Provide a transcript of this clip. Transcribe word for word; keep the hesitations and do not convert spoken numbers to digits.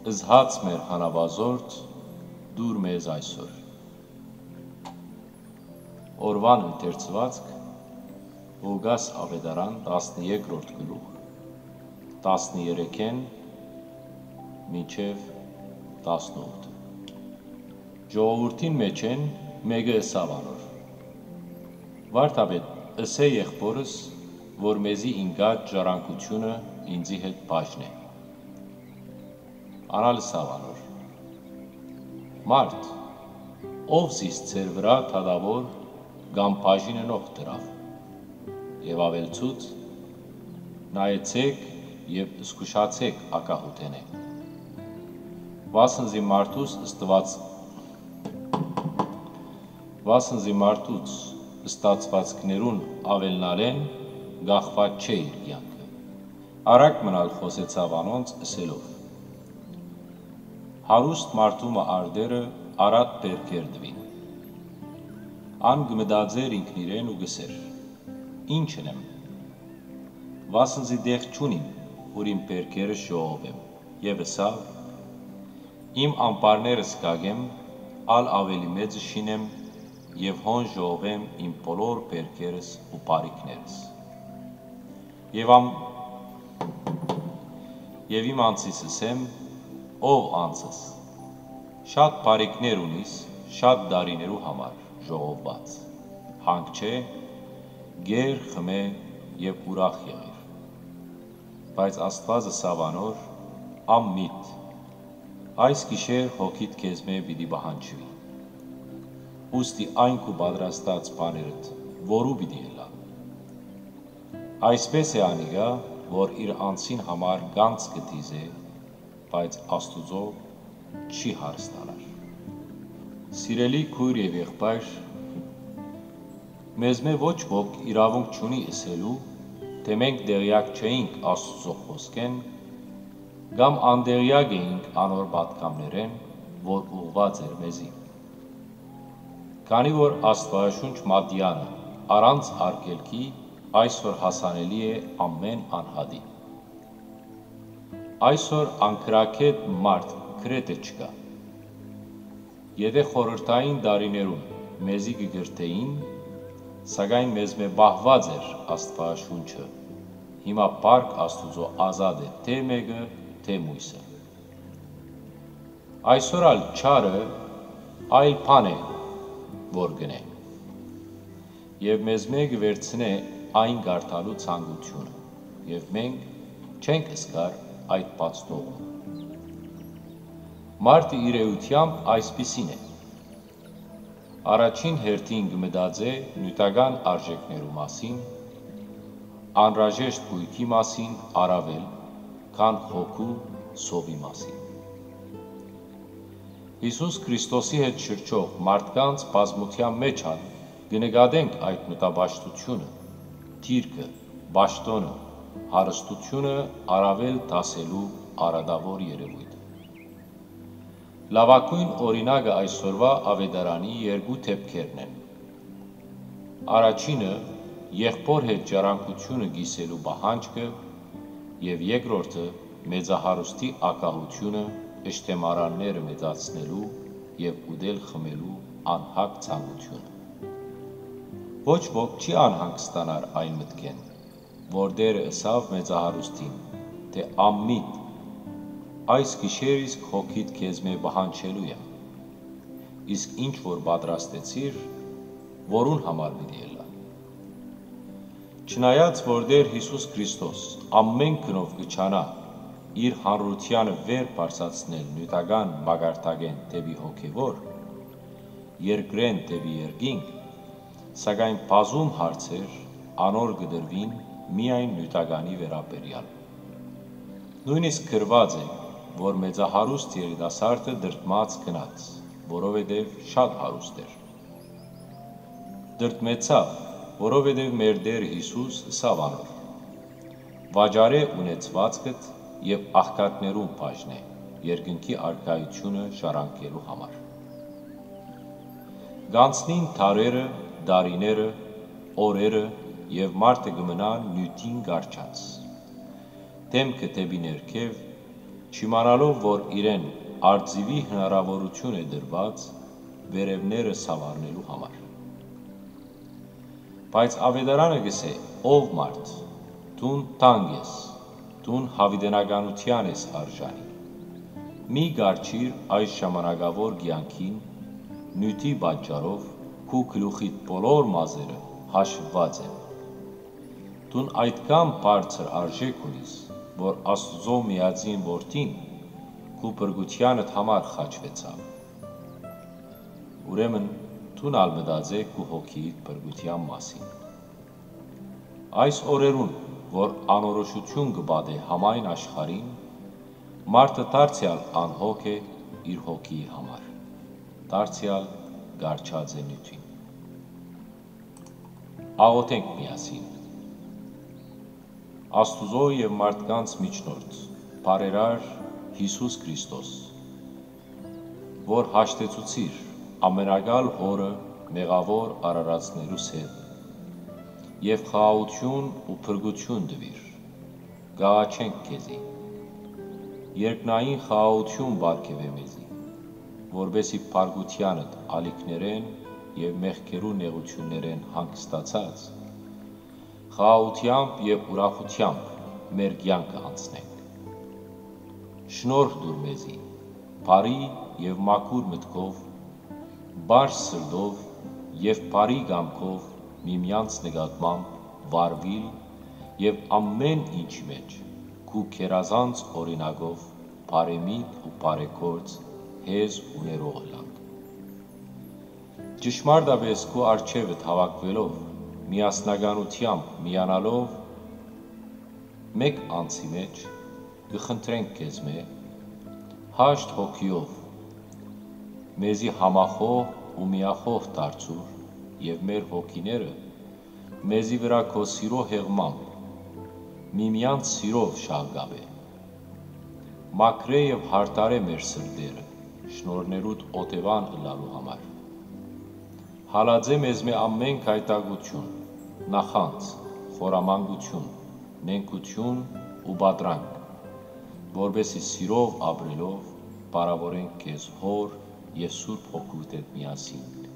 Զհաց մեր հանապազորդ, տուր մեզ այսօր։ Օրուան ընթերցուածք՝ Ղուկաս Աւետարան, տասներկրորդ գլուխ, տասներեքէն մինչեւ տասնութ։ Ժողովուրդին մէջէն մէկը ըսաւ անոր. «Վա՛րդապետ, ըսէ եղբօրս, որ մեզի ինկած ժառանգութիւնը ինծի հետ բաժնէ»։ Ան ալ ըսաւ անոր. «Մարդ, ո՞վ զիս ձեր վրայ դատաւոր կամ բաժին ընող դրաւ»։ Եւ աւելցուց. «Նայեցէք եւ զգուշացէք ագահութենէ, վասն զի մարդուս ստուած, վասն զի մարդուց ստացուածքներուն աւելնալէն կախուած չէ իր կեանքը»։ Առակ մըն ալ խօսեցաւ անոնց, ըսելով. «Հարուստ մարդու մը արտերը առատ պերկեր տուին»։ Ան կը մտածէր ինքնիրեն ու կ'ըսէր. «Ի՞նչ ընեմ, վասն զի տեղ չունիմ, ուր իմ պերկերս ժողովեմ»։ Եւ ըսաւ. «Իմ ամպարներս կ'ակեմ, ալ աւելի մեծը շինեմ եւ հոն ժողովեմ իմ բոլոր պերկերս ու բարիքներս»։ Եւ ամ-, եւ իմ անձիս ըսեմ. «Ով անձս, շատ բարիքներ ունիս շատ տարիներու համար ժողովուած։ Հանգչէ, կեր, խմէ եւ ուրախ եղիր»։ Բայց Աստուած ըսաւ անոր. «Անմիտ, այս գիշեր հոգիդ քեզմէ պիտի պահանջուի։ Ուստի այն քու պատրաստած բաներդ որո՞ւ պիտի ըլլան»։ Այսպէս է անիկա, որ իր անձին համար գանձ կը դիզէ, բայց Աստուծոյ չի հարստանար։ Սիրելի քոյր եւ եղբայր, մեզմէ ոչ ոք իրաւունք չունի ըսելու, թէ մենք տեղեակ չէինք Աստուծոյ խօսքէն կամ անտեղեակ էինք անոր պատգամներէն, որ ուղղուած էր մեզի։ Քանի որ Աստուածաշունչ մատեանը առանց արգելքի այսօր հասանելի է ամէն անհատի։ Այսօր անկրակէտ մարդ գրեթէ չկայ։ Եթէ խորհրդային տարիներուն մեզի կը կրթէին, սակայն մեզմէ պահուած էր Աստուածաշունչը, հիմա փառք Աստուծոյ ազատ է թէ մէկը, թէ միւսը։ Այսօր ալ չարը այլ բան է, որ կ'ընէ, եւ մեզմէ կը վերցնէ այն կարդալու ցանկութիւնը, եւ մենք չենք զգար այդ բացթողումը։ Մարդը իր էութեամբ այսպիսին է։ Առաջին հերթին կը մտածէ նիւթական արժէքներու մասին, անհրաժեշտ գոյքի մասին առաւել, քան հոգու սովի մասին։ Յիսուս Քրիստոսի հետ շրջող մարդկանց բազմութեան մէջ ալ կը նկատենք այդ նիւթապաշտութիւնը, դիրքը, պաշտօնը, հարստութիւնը առաւել դասելու արատաւոր երեւոյթը։ Լաւագոյն օրինակը այսօրուայ աւետարանի երկու դէպքերն են։ Առաջինը՝ եղբօր հետ ժառանգութիւնը կիսելու պահանջքը, եւ երկրորդը՝ մեծահարուստի ագահութիւնը, ըշտեմարանները մեծացնելու եւ ուտել խմելու անհագ ցանկութիւնը։ Ոչ ոք չի անհանգստանար այն մտքէն, որ Տէրը ըսաւ մեծահարուստին, թէ անմիտ, այս գիշեր իսկ հոգիդ քեզմէ պահանջելու եմ, իսկ ինչ որ պատրաստեցիր, որուն համար պիտի ըլլայ։ Չնայած որ Տէր Յիսուս Քրիստոս ամէն գնով կը ջանայ իր հանրութեանը վեր բարձրացնել նիւթական մակարդակէն դէպի հոգեվոր, երկրէն դէպի երկինք, սակայն բազում հարցեր անոր կը տրուին միայն նիւթականի վերաբերեալ։ Նոյնիսկ գրուած է, որ մեծահարուստ երիտասարդը տրտմած գնաց, որովհետեւ շատ հարուստ էր։ Տրտմեցաւ, որովհետեւ մեր Տէր Յիսուս ըսաւ անոր. «Վաճառէ ունեցուածքդ եւ աղքատներուն բաժնէ, երկնքի արքայութիւնը ժառանգելու համար»։ Կ'անցնին դարերը, տարիները, օրերը, եւ մարդը կը մնայ նիւթին կառչած, դէմքը դէպի ներքեւ, չիմանալով որ իրեն արծիւի հնարաւորութիւն է տրուած վերեւները սաւառնելու համար։ Բայց աւետարանը կ'ըսէ. «Ով մարդ, դուն թանկ ես, դուն յաւիտենականութեան ես արժանի։ Մի կառչիր այս ժամանակաւոր կեանքին, նիւթի պատճառով քու գլուխիդ բոլոր մազերը հաշուած են։ Դուն այդքան բարձր արժէք ունիս, որ Աստուծոյ միածին Որդին քու փրկութեանդ համար խաչուեցաւ։ Ուրեմն դուն ալ մտածէ քու հոգիիդ փրկութեան մասին»։ Այս օրերուն, որ անորոշութիւն կը պատէ համայն աշխարհին, մարդը դարձեալ անհոգ է իր հոգիի համար, դարձեալ կառչած է նիւթին։ Աղօթենք միասին։ Աստուծոյ եւ մարդկանց միջնորդ, բարերար Յիսուս Քրիստոս, որ հաշտեցուցիր ամենակալ Հօրը մեղաւոր արարածներուս հետ եւ խաղաղութիւն ու փրկութիւն տուիր, կ'աղաչենք քեզի։ Երկնային խաղաղութիւն պարգեւէ մեզի, որպէսզի փրկութեանդ ալիքներէն եւ մեղքերու նեղութիւններէն հանգստացած, խաղաղութեամբ եւ ուրախութեամբ մեր կեանքը անցնենք։ Շնորհ տուր մեզի, բարի եւ մաքուր մտքով, պարզ սրտով եւ բարի կամքով միմեանց նկատմամբ վարուիլ եւ ամէն ինչի մէջ քու գերազանց օրինակով բարեմիտ ու բարեգործ հեզ ու ներող ըլլանք։ Ճշմարտապէս քու առջեւդ հաւաքուելով, միասնականութեամբ միանալով, մէկ անձի մէջ, կը խնդրենք քեզմէ, հաշտ հոգիով, մեզի համախոհ ու միախոհ դարձուր եւ մեր հոգիները մեզի վրայ քո սիրո հեղմամբ, միմեանց սիրով շաղկապէ։ Մաքրէ եւ յարդարէ մեր սրտերը, շնորհներուդ օթեւան ըլլալու համար։ Հալածէ մեզմէ ամէն գայթակղութիւն, նախանձ, խորամանկութիւն, նենգութիւն ու պատրանք, որպէսզի սիրով ապրելով փառաւորենք քեզ Հօր եւ Սուրբ Հոգիդ հետ միասին։